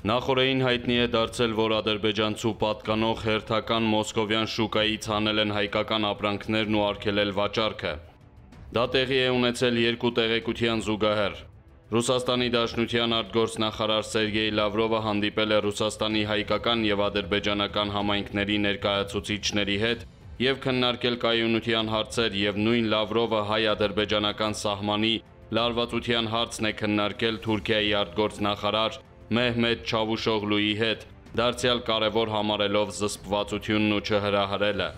Նախորդին հայտնի է դարձել, որ ադրբեջանցու պատկանող հերթական մոսկովյան շուկայից հանել են հայկական ապրանքներն ու արգելել վաճառքը։ Դա տեղի է ունեցել երկու տեղեկության զուգահեռ։ Ռուսաստանի Դաշնության արտգործնախարար Սերգեյ Լավրովը հանդիպել է Ռուսաստանի հայկական եւ ադրբեջանական համայնքների ներկայացուցիչների հետ եւ քննարկել կայունության հարցեր եւ նույն Լավրովը հայ-ադրբեջանական սահմանի լարվածության հարցն է քննարկել Թուրքիայի արտգործնախարար Մեհմեդ Չավուշօղլուի հետ, դարձյալ կարևոր համարելով զսպվածությունն ու չհրահրելը։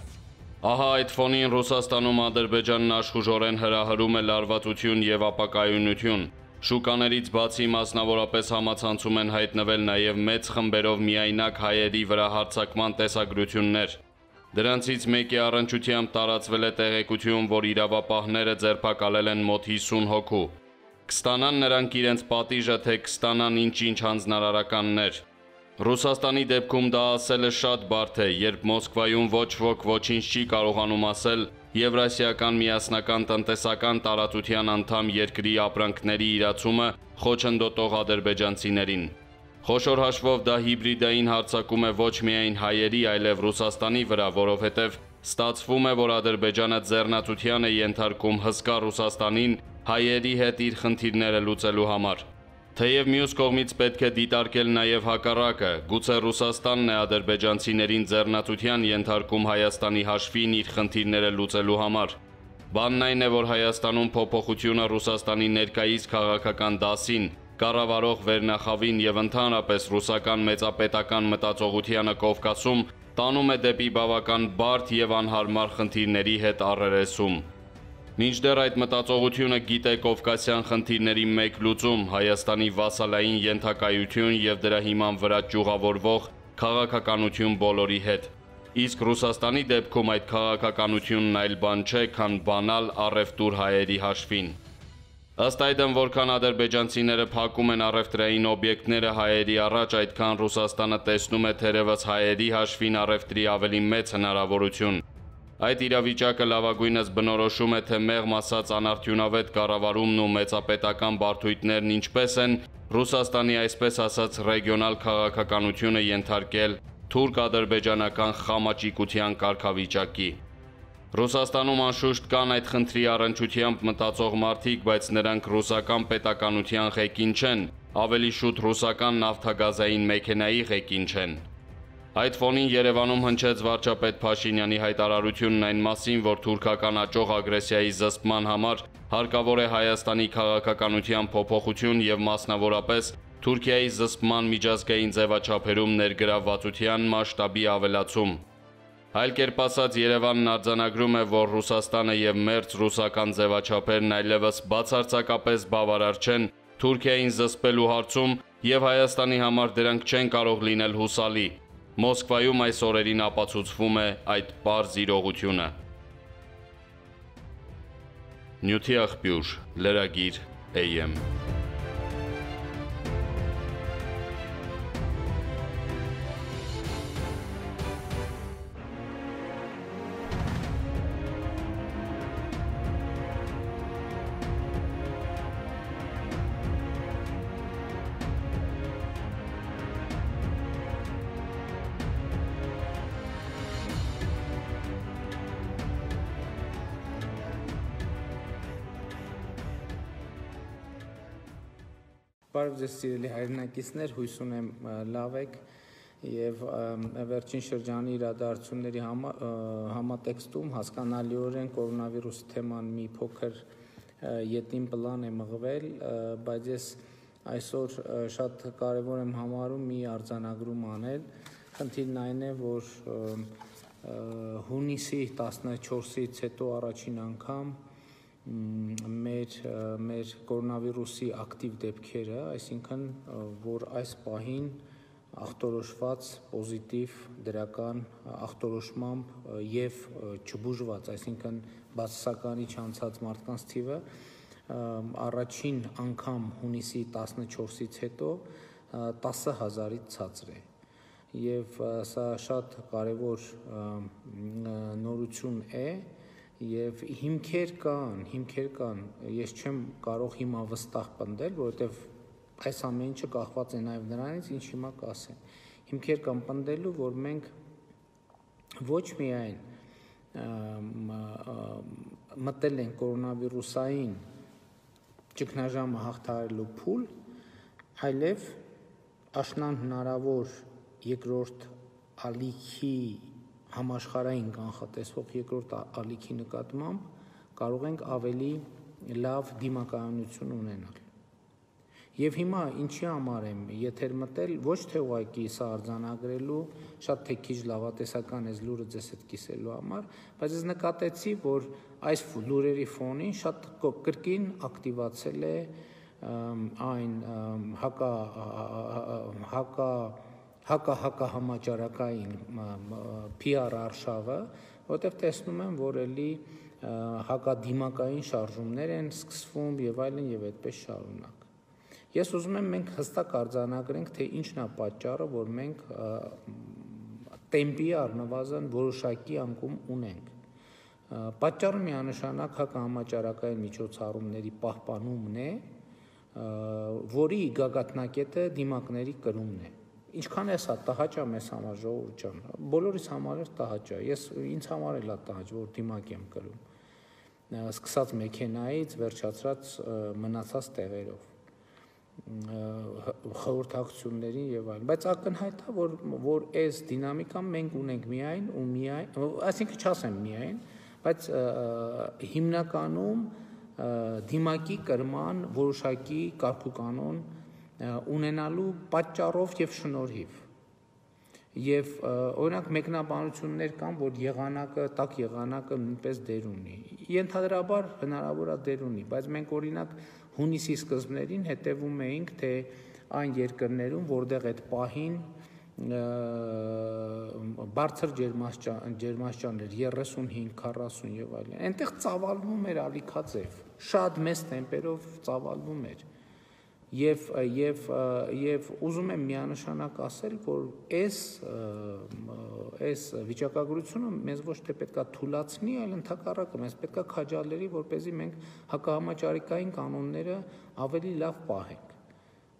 Ահա այդ ֆոնին Ռուսաստանում Ադրբեջանն աշխուժորեն հրահրում է լարվածություն եւ ապակայունություն։ Շուկաներից բացի մասնավորապես համացանցում են հայտնվել նաեւ մեծ խմբերով միայնակ հայերի վրա հարձակման տեսագրություններ։ Դրանցից մեկի առնչությամբ տարածվել է տեղեկություն, որ իրավապահները ձերբակալել են մոտ 50 հոգու։ Կստանան նրանք իրենց պատիժը, թե կստանան ինչ-ինչ հանձնարարականներ։ Ռուսաստանի դեպքում դա ասելը շատ բարդ է, երբ Մոսկվայում ոչ ոք ոչինչ չի կարողանում ասել Եվրասիական միասնական տնտեսական տարածության անդամ երկրի ապրանքների իրացումը խոչընդոտող ադրբեջանցիներին։ Խոշոր հաշվով դա հիբրիդային հարձակում է ոչ միայն հայերի, այլև Ռուսաստանի վրա, որովհետև ստացվում է, որ Ադրբեջանը ձեռնացության է ենթարկում հսկա Ռուսաստանին հայերի հետ իր խնդիրները լուծելու համար։ Թեև մյուս կողմից պետք է դիտարկել նաև հակառակը, գուցե Ռուսաստանն է ադրբեջանցիներին ձեռնացության ենթարկում Հայաստանի հաշվին իր խնդիրները լուծելու համար։ Բանն այն է, որ Հայաստանում փոփոխությունը Ռուսաստանի ներկայիս քաղաքական դասին, կառավարող վերնախավին եւ ընդհանրապես ռուսական մեծապետական մտածողությանը Կովկասում տանում է դեպի բավական բարդ եւ անհարմար խնդիրների հետ առերեսում։ Մինչդեռ այդ մտածողությունը գիտե կովկասյան խնդիրների մեկ լուծում՝ Հայաստանի վասալային ենթակայություն եւ դրա հիման վրա ճյուղավորվող քաղաքականություն բոլորի հետ։ Իսկ Ռուսաստանի դեպքում այդ քաղաքականությունն այլ բան չէ, քան բանալ առևտուր հայերի հաշվին։ Ըստ այդմ, որքան ադրբեջանցիները փակում են առևտրային օբյեկտները հայերի առաջ, այդքան Ռուսաստանը տեսնում է թերևս հայերի հաշվին առևտրի ավելի մեծ հնարավորություն։ Այդ իրավիճակը լավագույնս բնորոշում է, թե մեղմ ասած անարդյունավետ կառավարումն ու մեծապետական բարդույթներն ինչպես են Ռուսաստանի այսպես ասած ռեգիոնալ քաղաքականությունը ենթարկել թուրք-ադրբեջանական խամաճիկության կարգավիճակի։ Ռուսաստանում անշուշտ կան այդ խնդրի առնչությամբ մտածող մարդիկ, բայց նրանք ռուսական պետականության ղեկին չեն, ավելի շուտ ռուսական նավթագազային մեքենայի ղեկին չեն։ Այդ ֆոնին Երևանում հնչեց վարչապետ Փաշինյանի հայտարարությունն այն մասին, որ թուրքական աճող ագրեսիայի զսպման համար հարկավոր է Հայաստանի քաղաքականության փոփոխություն եւ մասնավորապես Թուրքիայի զսպման միջազգային ձևաչափերում ներգրավվածության մասշտաբի ավելացում։ Այլ կերպ ասած, Երևանն արձանագրում է, որ Ռուսաստանը եւ մերձ ռուսական ձևաչափերն այլևս բացարձակապես բավարար չեն Թուրքիային զսպելու հարցում եւ Հայաստանի համար դրանք չեն կարող լինել հուսալի։ Մոսկվայում այս օրերին ապացուցվում է այդ պարզ իրողությունը։ Նյութի աղբյուր, լրագիր AM։ Բարև ձեզ սիրելի հայրենակիցներ, հույս ունեմ լավ եք եւ վերջին շրջանի իրադարձությունների համատեքստում հասկանալիորեն կորոնավիրուսի թեման մի փոքր ետին պլան է մղվել, բայց ես այսօր շատ կարեւոր եմ համարում մի արձանագրում անել։ Խնդիրն այն է, որ հունիսի 14-ից հետո առաջին անգամ մեր կորոնավիրուսի ակտիվ դեպքերը, այսինքն, որ այս պահին ախտորոշված պոզիտիվ դրական ախտորոշմամբ եւ չբուժված, այսինքն բացասականի չանցած մարդկանց թիվը առաջին անգամ հունիսի 14-ից հետո 10,000-ից ցածր է։ Եվ սա շատ կարևոր նորություն է եւ հիմքեր կան, ես չեմ կարող հիմա վստահ պնդել, որովհետեւ այս ամեն ինչը կախված է նաև նրանից, ինչ հիմա կասեն։ Հիմքեր կան պնդելու, որ մենք ոչ միայն մտել են կորոնավիրուսային ճգնաժամը հաղթահարելու փուլ, այլև աշնան հնարավոր երկրորդ ալիքի համաշխարհային կանխատեսվող երկրորդ ալիքի նկատմամբ կարող ենք ավելի լավ դիմակայունություն ունենալ։ Եվ հիմա ինչի համար եմ եթեր մտել, ոչ թե ուղղակի սա արձանագրելու, շատ թե քիչ լավատեսական այս լուրը ձեզ հետ կիսելու համար, բայց ես նկատեցի, որ այս լուրերի ֆոնին շատ կրկին ակտիվացել է այն հակահամաճարակային PR արշավը, որտեղ տեսնում եմ, որ էլի հակադիմակային շարժումներ են սկսվում եւ այլն եւ այդպես շարունակ։ Ես ուզում եմ մենք հստակ արձանագրենք, թե ինչն է պատճառը, որ մենք տեմպի առնվազն որոշակի անկում ունենք։ Պատճառը միանշանակ հակահամաճարակային միջոցառումների պահպանումն է, որի գագաթնակետը դիմակների կրումն է։ Ինչքան է սա տհաճ է մեզ համար, ժողովուրդ ջան, բոլորիս համար էլ տհաճ է։ Ինձ համար էլ է տհաճ, որ դիմակ եմ կրում։ Սկսած մեքենայից, վերջացրած մնացած տեղերով, խորհրդակցություններին եւ այլն, բայց ակնհայտ է, որ այս դինամիկան մենք ունենք միայն ու միայն, այսինքն չասեմ միայն, բայց հիմնականում դիմակի կրման որոշակի կարգուկանոն ունենալու պատճառով եւ շնորհիվ։ Եվ օրինակ մեկնաբանություններ կան, որ տաք եղանակը նույնպես դեր ունի։ Ենթադրաբար հնարավոր է դեր ունի, բայց մենք օրինակ հունիսի սկզբներին հետևում էինք, թե այն երկրներում, որտեղ այդ պահին բարձր ջերմաստիճաններ 35-40 եւ այլն, այնտեղ ծավալվում էր ալիքաձև, շատ մեծ տեմպերով ծավալվում էր։ Եվ ուզում եմ միանշանակ ասել, որ այս վիճակագրությունը մեզ ոչ թե պետքա թուլացնի, այլ ընդհակառակը մեզ պետքա քաջալերի, որպեսզի մենք հակահամաճարակային կանոնները ավելի լավ պահենք։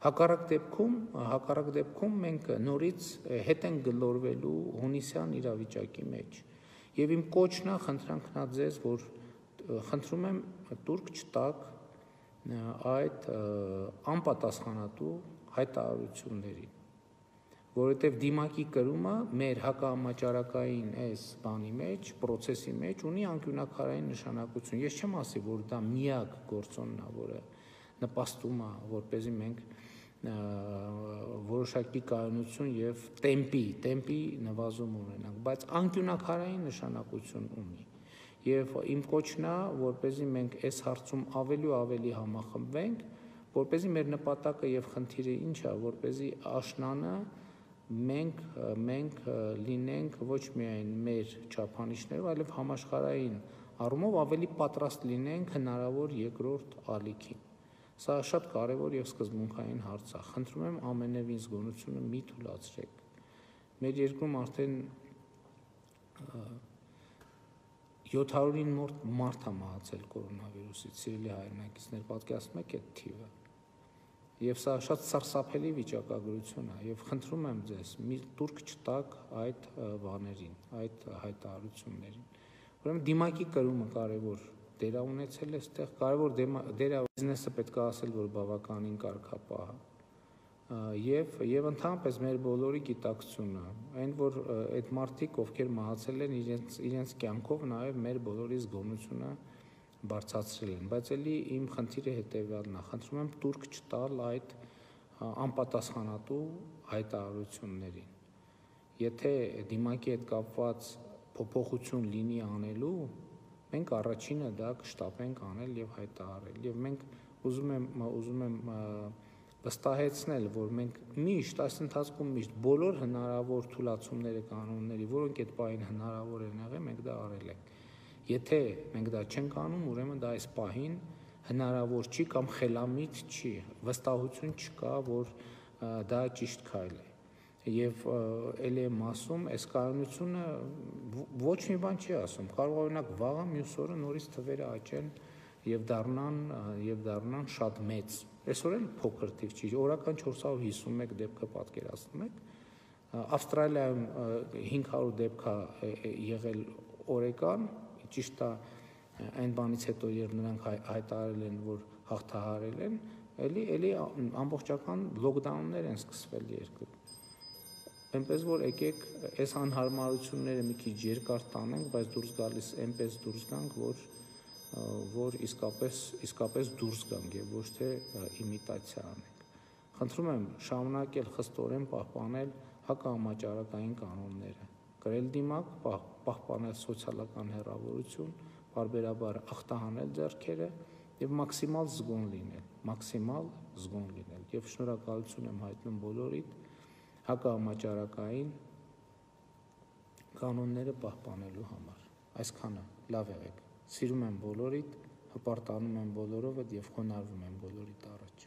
Հակառակ դեպքում մենք նորից հետ ենք գլորվելու հունիսյան իրավիճակի մեջ։ Եվ իմ կոչն է, խնդրանքն է ձեզ, որ խնդրում եմ տուրք չտաք այդ անպատասխանատու հայտարարություններին, որովհետև դիմակի կրումը մեր հակահամաճարակային այս բանի մեջ, պրոցեսի մեջ ունի անկյունաքարային նշանակություն։ Ես չեմ ասի, որ դա միակ գործոնն է, որը նպաստում է, որպեսզի մենք որոշակի կայունություն եւ տեմպի նվազում ունենանք, բայց անկյունաքարային նշանակություն ունի։ Եվ իմ կոչն է, որպեսզի մենք այս հարցում ավելի ու ավելի համախմբվենք, որպեսզի մեր նպատակը եւ խնդիրը ինչ է, որպեսզի աշնանը մենք լինենք ոչ միայն մեր չափանիշներով, այլև համաշխարհային առումով ավելի պատրաստ լինենք հնարավոր երկրորդ ալիքին։ Սա շատ կարևոր եւ սկզբունքային հարց է։ Խնդրում եմ ամենևին զգոնությունը մի թույլատրեք։ Մեր երկրում արդեն 700-ին մարդ է մահացել կորոնավիրուսից, սիրելի հայրենակիցներ, պատկերացնում եք այդ թիվը։ Եվ սա շատ սարսափելի վիճակագրություն է, եւ խնդրում եմ ձեզ, մի տուրք չտաք այդ բաներին, այդ հայտարարություններին։ Ուրեմն դիմակի կրումը կարևոր դեր է ունեցել այստեղ, կարևոր դեր է բիզնեսը պետք է ասել, որ բավականին կարգապահ է։ Եվ ընդհանրապես մեր բոլորի գիտակցությունը, այն որ այդ մարդիկ, ովքեր մահացել են, իրենց կյանքով նաև մեր բոլորի զգոնությունը բարձրացրել են, բայց էլի իմ խնդիրը հետևյալն է, խնդրում եմ տուրք չտալ այդ անպատասխանատու հայտարարություններին։ Եթե դիմակի հետ կապված փոփոխություն լինի անելու, մենք առաջինը դա կշտապենք անել եւ հայտարարել։ Եվ մենք ուզում եմ վստահեցնել, որ մենք միշտ այս ընթացքում միշտ բոլոր հնարավոր թույլատումները կանոնների, որոնք այդ պահին հնարավոր են եղել, մենք դա արել ենք։ Եթե մենք դա չենք անում, ուրեմն դա այս պահին հնարավոր չի կամ խելամիտ չի, վստահություն չկա, որ դա ճիշտ քայլ է։ Եվ ելի եմ ասում, այս կայունությունը ոչ մի բան չի ասում, կարող օրինակ վաղը մյուս օրը նորից թվերը աճեն եւ դառնան շատ մեծ։ Այսօր էլ փոքր թիվ չի, օրական 451 դեպքը պատկերացնում եք։ Ավստրալիայում 500 դեպք է եղել օրական, ճիշտ է, այն բանից հետո երբ նրանք հայտարարել են, որ հաղթահարել են, էլի ամբողջական լոկդաուններ են սկսվել երկրում։ Այնպես որ եկեք այս անհարմարությունները մի քիչ երկար տանենք, բայց դուրս գալիս այնպես դուրս գանք, որ իսկապես դուրս գանք եւ ոչ թե իմիտացիա անենք։ Խնդրում եմ շարունակել խստորեն պահպանել հակահամաճարակային կանոնները, կրել դիմակ, պահպանել սոցիալական հեռավորություն, բարբերաբար ախտահանել ձեռքերը եւ մաքսիմալ զգոն լինել եւ շնորհակալություն եմ հայտնում բոլորիդ հակահամաճարակային կանոնները պահպանելու համար։ Այսքանը, լավ եղեք։ Սիրում եմ բոլորիդ, հպարտանում եմ բոլորովդ եւ խոնարհվում եմ բոլորիդ առաջ։